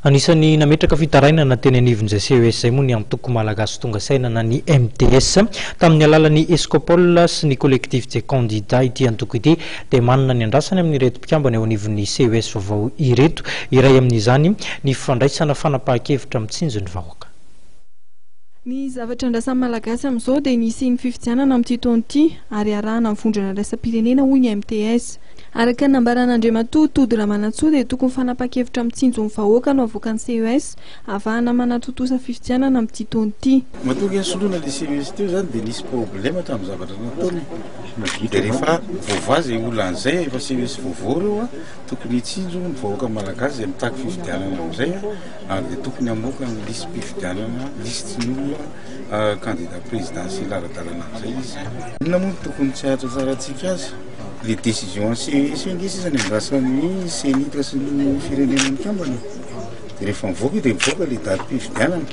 Anisan'ny nametraka fitarainana teny anivon'izay CES izay moa ny antoko Malagasy Tonga Saina na ny MTS. Tamin'ny alalan'ny Escopol sy ny Collectif des Candidats ity antoko ity dia manana ny andrasany amin'ireto mpikambana eo anivon'ny CES vaovao ireto. Iray amin'izany ny fandraisana fanapahan-kevitra mitsinjo ny vahoaka. Ny zavatra andrasan'ny Malagasy amin'izao dia ny hisian'ny fifidianana amin'ity taona ity ary arahana amin'ny vondrona iraisam-pirenena hoy ny MTS. Araka ny nambaran'Andriamatoa Tody Ramanantsoa dia tokony fanapahan-kevitra mitsinjo ny vahoaka no avoakan'ny CES ahavahana manatontosa fifidianana amin'ity taona ity. Matoa ange nisoloana ilay CES teo izany dia nisy problème tamin'ny zavatra nataony e. Dia rehefa voavaha izay olana izay, efa CES vaovao ireo a, tokony hitsinjo ny vahoaka malagasy izay mitaky fifidianana amin'izay a. Ary dia tokony hamoaka ny lisi-pifidianana, lisitry ny olona candidat présidentiel ara-dalana amin'izay izy. Inona moa no tokony tsy hahatratrarantsika azy? Le décision an'ny CES io ange sisa ny andrasan'ny Cenit sy ny firenena mikambana e. Dia rehefa mivoaka io dia mivoaka le datim-pifidianana.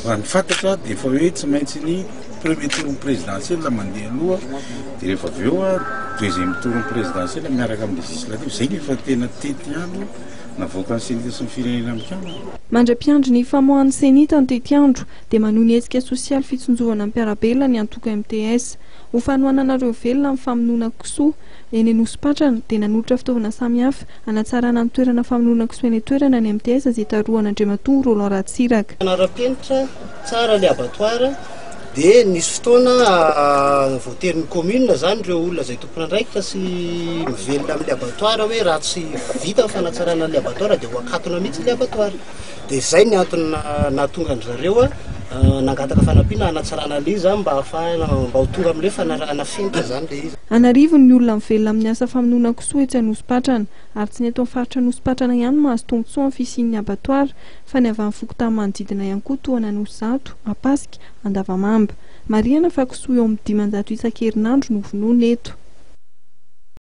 Raha ny fantatra dia efa hoe tsy maintsy ny premier tour ny présidentiel mandeha aloha dia rehefa avy eo deuxième tour ny présidentiel miaraka amin'ny législative. Izay no efa tena tetiandro. Navoakan'ny Cenit sy ny Firenena Mikambana. Mandra-piandry ny famoahan'ny Cenit ny tetiandro, dia manohy ny hetsika sosialy fitsinjovana ny mpiara-belona ny antoko MTS. Ho fanohanana ireo velona amin'ny famonoana kisoa eny Anosipatrana, dia nanolotra fitaovana samihafa hanatsarana ny toerana famonoana kisoa eny an-toerana ny MTS izay tarohan'Andriamatoa Roland Ratsiraka. Manara-penitra tsara ilay abattoir dia nisy fotoana voaterin'ny commune zany ireo olona izay tompon'andraikitra sy mivelona amin'ilay abattoir hoe raha tsy vita ny fanatsarana an'ilay abattoir dia ho akatona mihitsy ilay abattoir. Dia izay ny antony nahatonga an-dry zareo nangataka fanampiana hanatsarana an'ilay izy mba hahafahana mba ho tonga amin'ilay fanarahana fenitra izany ilay izy. An'arivony ny olona mivelona amin'ny asa famonoana kisoa etsy Anosipatrana ary tsy ny eto amin'ny faritra Anosipatrana ihany no mahazo tombontsoa amin'ny fisian'ny abattoir fa ny avy amin'ny fokontany manodidina ihany koa toa an'Anosizato, Ampasika, Andavamamba. Marihana fa kisoa eo amin'ny 500 isan-kerinandro no vonoina eto.